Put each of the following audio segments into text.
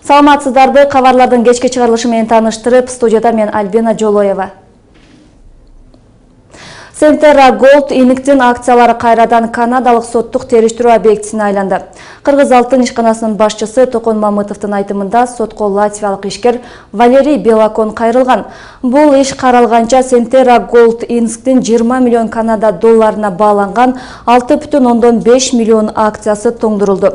Саламатсыздарбы, кабарлардын кечки чыгарылышы менен тааныштырып, студияда мен Альбина Жолоева. Сентерра Голд Иниктин акциялары кайрадан канадалык соттук териштирүү объектисине айланды. Кыргыз алтын ишканасынын башчысы Токон Мамытовдун айтымында сотко латвиялык ишкер Валерий Белакон кайрылган. Бул иш каралганча Сентерра Голд Иниктин 20 миллион Канада долларына бааланган 6,5 миллион акциясы тоңдурулду.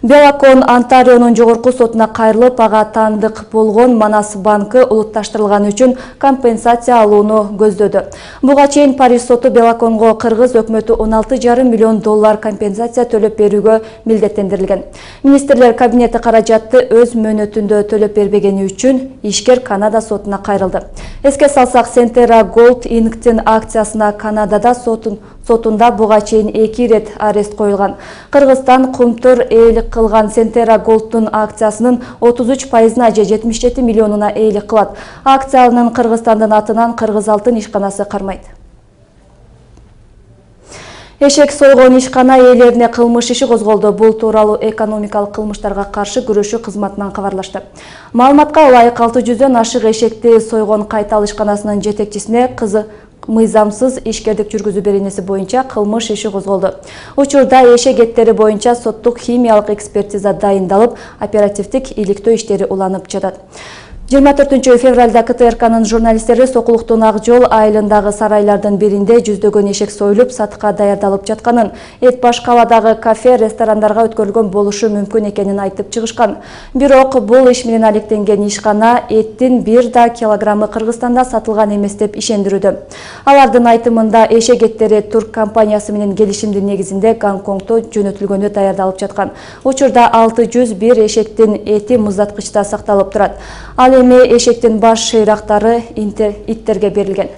Белакон Онтарионун жогорку сотуна кайрылып, ага таандык болгон Манас банкы улутташтырылганы үчүн компенсация алууну көздөдү. Буга чейин Париж соту Белаконго кыргыз өкмөтү 16,5 миллион доллар компенсация төлөп берүүгө милдеттендирилген. Министрлер кабинети каражатты өз мөөнөтүндө төлөп бербегени үчүн ишкер Канада сотуна кайрылды. Эске салсак, Сентерра Голд Иниктин акциясына Канадада сотунда буга чейин 2 ирет арест коюлган. Кыргызстан кумтур ээлик кылган Сентерра Голдтун акциясынын 33%-на же 77 миллионуна ээлик кылат. Акциянын Кыргызстандын атынан Кыргыз алтын ишканасы кармайт. Эшек сойгон ишкана ээлерине кылмыш иши козголду. Бул тууралуу экономикалык кылмыштарга каршы күрөшүү кызматынан кабарлашты. Маалыматка ылайык 600дөн ашык эшекти сойгон кайтал ишканасынын жетекчисине кызы мыйзамсыз ишкердик жүргүзүү беренеси боюнча кылмыш иши козголду. Учурда эшек эттери боюнча соттук химиялык экспертиза дайындалып, оперативдик иликтөө иштери уланып жатат. 24 февралда КТРКнын журналисттери Сокулуктун Ак Жол айылындагы сарайлардын биринде жүздөгөн эшек союлуп, сатыкка даярдалып жатканын, эт баш кабадагы кафе, ресторандарга өткөрүлгөн болушу мүмкүн экенин айтып чыгышкан. Бирок бул иш менен алектенген ишкана эттин 1 да килограммы Кыргызстанда сатылган эмес деп ишендирүүдө. Алардын айтымында эшек эттери турк компаниясы менен келишимдин негизинде Гонконгто жөнөтүлгөнү даярдалып жаткан. Учурда 601 эшектин эти муздаткычта сакталып турат. Ал эми эшектин баш шыйрактары иттерге берилген.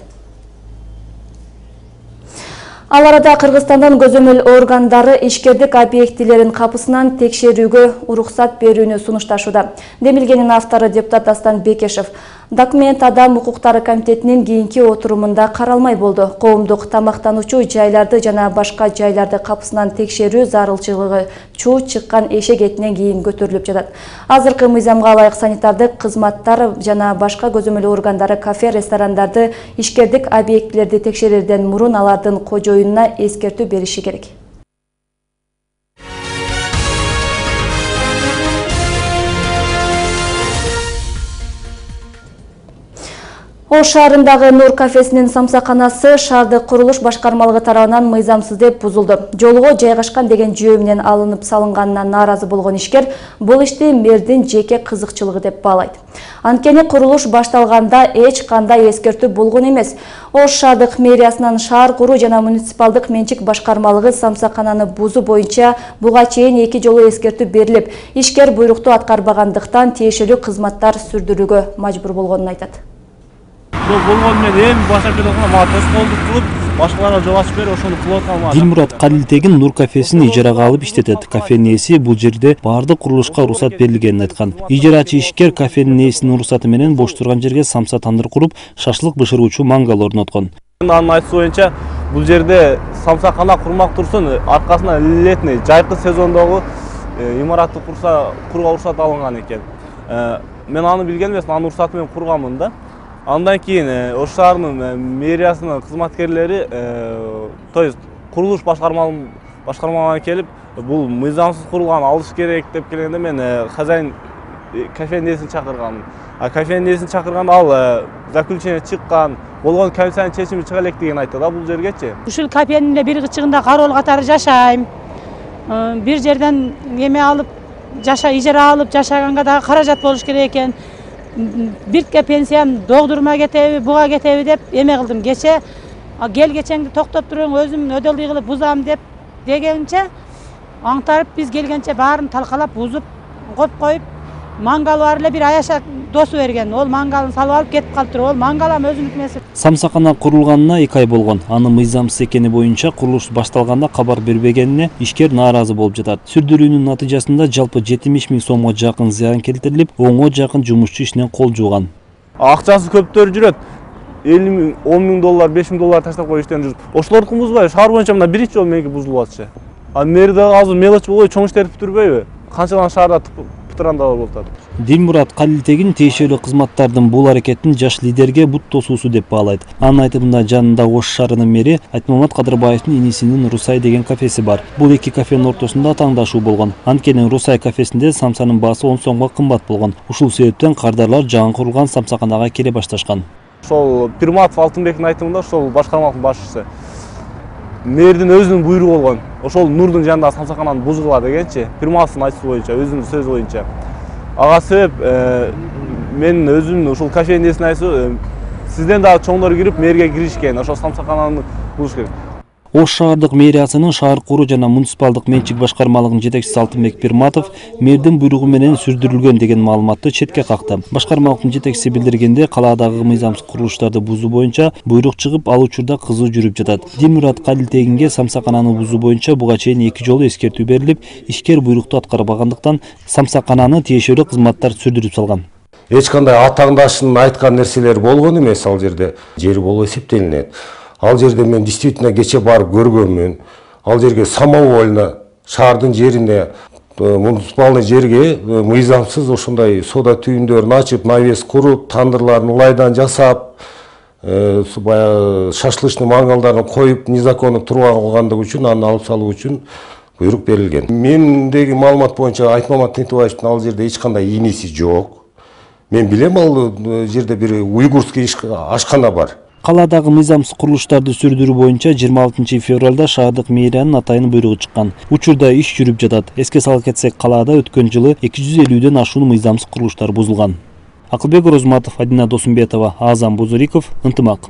Ал арада Кыргызстандын көзөмөл органдары ишкердик объектилерин капысынан текшерүүгө уруксат берүүнү сунушташууда. Демилгенин автору депутат Дастан Бекешев. Документ Адам укуктары комитетинин кийинки отурумунда каралмай болду. Коомдук тамактануучу жайларды жана башка жайларды капысынан текшерүү зарылчылыгы чуу чыккан эшек этинен кийин көтөрүлүп жатат. Азыркы мыйзамга ылайык санитардык кызматтар жана башка көзөмөл органдары кафе, ресторандарды ишкердик объектилерди текшерерден мурун алардын кожоюнуна эскертүү бериши керек. Ош шаарындагы Нур кафесинин самсаканасы шаардык курулуш башкармалыгы тарабынан мыйзамсыз деп бузулду. Жолго жайгашкан деген жөө менен алынып салынганына нааразы болгон ишкер бул ишти мэрдин жеке кызыкчылыгы деп баалайт. Анткени курулуш башталганда эч кандай эскертүү болгон эмес. Ош шаардык мэриясынын шаар куруу жана муниципалдык менчик башкармалыгы самсакананы бузуу боюнча буга чейин 2 жолу эскертүү берилип, ишкер буйрукту аткарбагандыктан тиешелүү кызматтар сүрдүрүүгө мажбур болгонун айтат. Болгон мен эми башка телефонго мага тоскоолдук кылып, башкаларга жол ачып берип, ошону кылып атам. Дилмурат Калилтегин Нур кафесин ижарага алып иштетет. Кафенин ээси бул жерде баардык курулушка уруксат берилгенин айткан. Ижарачы ишкер кафенин ээсинин уруксаты менен бош турган жерге самса тандыр куруп, шашлык бышыруучу мангал орноткон. Анын айтуусу боюнча, бул жерде самсакана курмак турсун, аркасына летний жайкы сезондогу имаратты курууга уруксат алынган экен. Мен аны билген эмес, анын уруксаты менен курганмын да. Андан кийин Ош шаарынын мэриясынын кызматкерлери, то есть курулуш башкармалыгына келип, бул мыйзамсыз курулган, алыш керек деп келгенде мен хозяин кафенин ээсин чакырганмын. Кафенин ээсин чакырганда ал заключение чыккан, болгон комиссиянын чечими чыга элек деген айтты да бул жергечи. Ушул кафенин бир кычыгында кароол катары жашайм. Бир жерден эме алып, ижара алып жашаганга дагы каражат болуш керек экен. Биртке пенсиям догдурма кетеби, буга кетеби деп эме кылдым. Кече кечеңди токтоп туруң, өзүм өдөлдүй кылып бузам деп дегенче аңтарып биз келгенче баарын талкалап бузуп коюп, мангал бар эле бир аяша досу берген. Ол мангалын салып алып кетип калыптыр. Ол мангалам өзүнүн эмеси. Самсакана курулганына 2 ай болгон. Аны мыйзамсыз экени боюнча курулуш башталганда кабар бербегенине ишкер нааразы болуп жатат. Сүрдүрүүнүн натыйжасында жалпы 70 000 сомго жакын зыян келтирилип, 10го жакын жумушчу ишинен кол жууган. Акчасы көптөр жүрөт. 50 000, 10 000 доллар, 5 000 доллар таштап коюп иштен жүрүп. Ошолордуку бузбайбы? Шаар боюнча мына биринчи жолу меники бузулуп атчы. Мэрде азыр мелочь болбой чоң иш терип бүтүрбөйбү? Канчадан шаарда ветерандары болуп атат. Дилмурат Калилтегин тиешелүү кызматтардын бул аракетин жаш лидерге бут тосуусу деп баалайт. Анын айтымында жанында Ош шаарынын мэри Айтмамат Кадырбаевдин инисинин Русай деген кафеси бар. Бул эки кафенин ортосунда таңдашуу болгон. Анткени Русай кафесинде самсанын баасы 10 сомго кымбат болгон. Ушул себептен кардарлар жаңы курулган самсаканага келе башташкан. Ошол Пирматов Алтынбектин айтымында ошол башкармалыктын башчысы мэрдин өзүнүн буйругу болгон. Ошол Нурдун жанындагы самсакананы бузгула дегенчи, Пирматовдун айтышы боюнча, өзүнүн сөзү боюнча. Ага себеп мен өзүм ушул кафенин эсин айтсам, сизден дагы чоңдор кирип мэрге киришкен, ошол самсакананы бузуш керек. Ош шаардык мэриясынын шаар куруу жана муниципалдык менчик башкармалыгынын жетекчиси Алтынбек Пирматов мэрдин буйругу менен сүрдүрүлгөн деген маалыматты четке какты. Башкармалыктын жетекчиси билдиргенде, калаадагы мыйзамсыз курулуштарды бузуу боюнча буйрук чыгып, ал учурда кызуу жүрүп жатат. Дилмурат Калилтегинге самсакананы бузуу боюнча буга чейин 2 жолу эскертүү берилип, ишкер буйрукту аткарбагандыктан самсакананы тиешелүү кызматтар сүрдүрүп салган. Эч кандай атаңдашын айткан нерселер болгон эмес, ал жерде жер болуп эсептелинет. Ал жерде мен действительно кече барып көргөнмүн. Ал жерге самовольно шаардын жерине, муниципалдык жерге мыйзамсыз ошондой сода түйүндөрүн ачып, навес куруп, тандырларын улайдан жасап, баягы шашлычный мангалдарын коюп, незаконно тургандыгы үчүн аны алып салуу үчүн буйрук берилген. Мендеги маалымат боюнча Айтмамат Тынтыбаевдин ал жерде эч кандай иниси жок. Мен билем, ал жерде бир уйгурский ашкана бар. Калаадагы мыйзамсыз курулуштарды сүрдүрүү боюнча 26 февралда шаардык мэриянын атайын буйругу чыккан. Учурда иш жүрүп жатат. Эске сала кетсек, калаада өткөн жылы 250ден ашуун мыйзамсыз курулуштар бузулган. Акылбек Розматов, Адина Досумбетова, Азам Бузуриков, Ынтымак.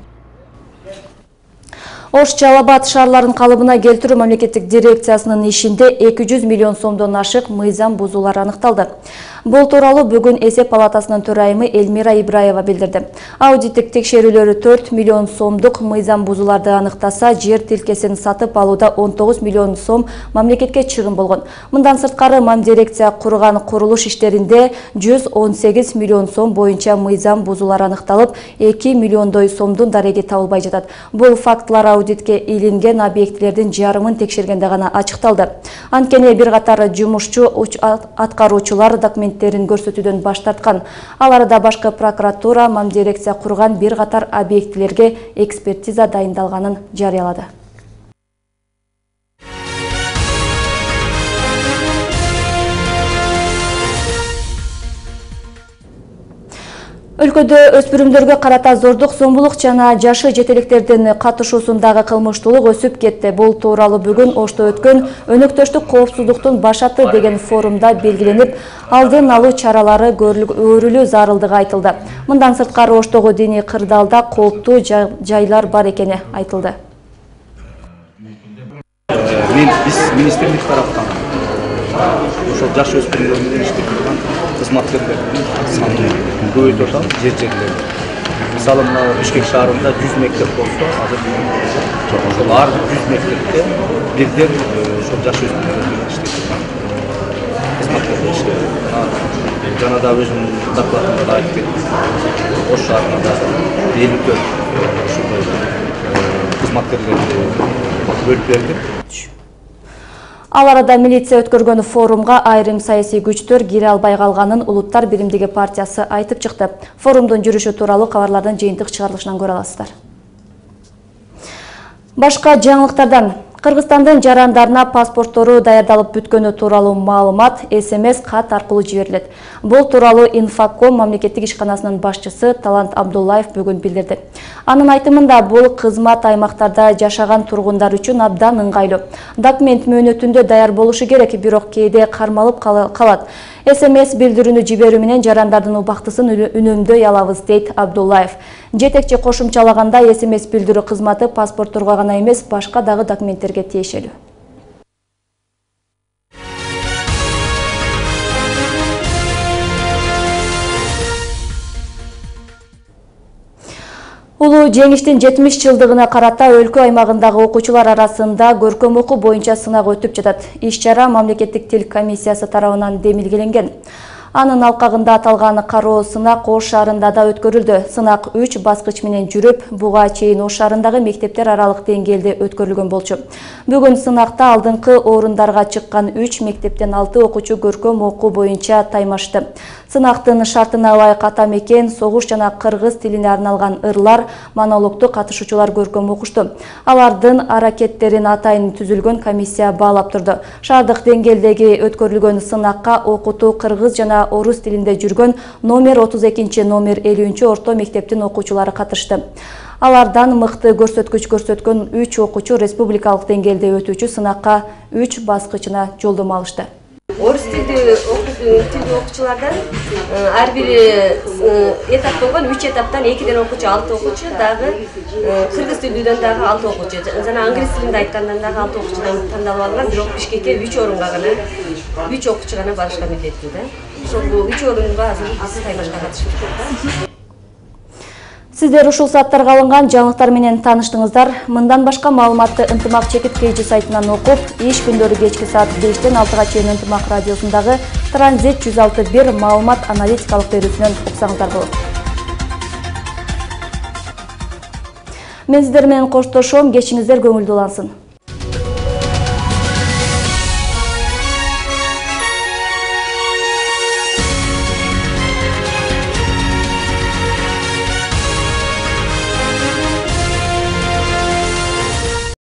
Ош Жалал Абад шаарларын калыбына келтирүү мамлекеттик дирекциясынын ишинде 200 миллион сомдон ашык мыйзам бузуулар аныкталды. Бул тууралуу бүгүн эсеп палатасынын төрайымы Элмира Ибраева билдирди. Аудиттик текшерүүлөрү 4 миллион сомдук мыйзам бузууларды аныктаса, жер тилкесин сатып алууда 19 миллион сом мамлекетке чыгым болгон. Мындан сырткары мам дирекция курган курулуш иштеринде 118 миллион сом боюнча мыйзам бузуулар аныкталып, 2 миллиондой сомдун дареги табылбай жатат. Бул фактылар аудитке илинген объектилердин жарымын текшергенде гана ачыкталды. Анткени бир катар жумушчу аткаруучулар документтерин көрсөтүүдөн баш тарткан. Ал арада башкы прокуратура мам дирекция курган бир катар объектилерге экспертиза дайындалганын жарыялады. Өлкөдө өспүрүмдөргө карата зордук, зомбулук жана жашы жетеликтердин катышуусундагы кылмыштуулук өсүп кетти. Бул тууралуу бүгүн Ошто өткөн өнөктөштүк коопсуздуктун башаты деген форумда белгиленип, алдын алуу чаралары көрүлүү зарылдыгы айтылды. Мындан сырткары Оштогу диний кырдаалда кооптуу жайлар бар экени айтылды. Биз министрлик тараптан ошол жаш өспүрүмдөр менен иштеп турган кызматкерлердин санын көбөйтүп атабыз жерлерде. Мисалы, мына Бишкек шаарында 100 мектеп болсо, азыр ошол ар 100 мектепте бирден ошол жаш өспүрүмдөр менен иштеп турган кызматкерлер иштеп. Жана да өзүмдүн докладымда да айтып кеттим. Ош шаарында да 54 ушундай кызматкерлерди бөлүп бердик. Ал арада милиция өткөргөн форумга айрым саясий күчтөр кире албай калганын Улуттар биримдиги партиясы айтып чыкты. Форумдун жүрүшү тууралуу кабарлардын жыйынтык чыгарылышынан көрө аласыздар. Башка жаңылыктардан: Кыргызстандын жарандарына паспорттору даярдалып бүткөнү тууралуу маалымат СМС кат аркылуу жиберилет. Бул тууралуу Инфаком мамлекеттик ишканасынын башчысы Талант Абдуллаев бүгүн билдирди. Анын айтымында бул кызмат аймактарда жашаган тургундар үчүн абдан ыңгайлуу. Документ мөөнөтүндө даяр болушу керек, бирок кээде кармалып калат. СМС билдирүүнү жиберүү менен жарандардын убактысын үнөмдөй алабыз, дейт Абдуллаев. Жетекчи кошумчалаганда, СМС билдирүү кызматы паспортторго гана эмес, башка дагы документтерге тиешелүү. Улуу жеңиштин 70 жылдыгына карата өлкө аймагындагы окуучулар арасында көркөм окуу боюнча сынак өтүп жатат. Иш-чара мамлекеттик тил комиссиясы тарабынан демилгеленген. Анын алкагында аталган кароо сынак Ош шаарында да өткөрүлдү. Сынак 3 баскыч менен жүрүп, буга чейин Ош шаарындагы мектептер аралык деңгээлде өткөрүлгөн болчу. Бүгүн сынакта алдыңкы орундарга чыккан 3 мектептен 6 окуучу көркөм окуу боюнча таймашты. Сынактын шартына ылайык ата мекен, согуш жана кыргыз тилине арналган ырлар, монологду катышуучулар көркөм окушту. Алардын аракеттерин атайын түзүлгөн комиссия баалап турду. Шаардык деңгээлдеги өткөрүлгөн сынакка окутуу кыргыз жана орус тилинде жүргөн номер 32, номер 50 орто мектептин окуучулары катышты. Алардан мыкты көрсөткүч көрсөткөн 3 окуучу республикалык деңгээлде өтүүчү сынакка 3 баскычына жолдомо алышты. Орус тилди окуучулардан ар бир этап болгон 3 этаптан 2ден окуучу 6 окуучу, дагы кыргыз тилдүүдөн дагы 6 окуучу жана англис тилинде айткандан дагы 6 окуучудан тандалып алган, бирок Бишкекке 3 орунга гана 3 окуучу гана барышка милдеттүү да. Ошол 3 орунга азыр биз таймашка катышып. Сиздер ушул сааттарга алынган жаңылыктар менен тааныштыңыздар. Мындан башка маалыматты Ынтымак чекиткейчи сайтынан окуп, иш күндөрү кечки саат 5-тен 6-га чейин Ынтымак радиосундагы Транзит 106.1 маалымат аналитикалык берүүсүнөн уксаңыздар болот. Мен сиздер менен коштошом, кечиңиздер көңүлдүү улансын.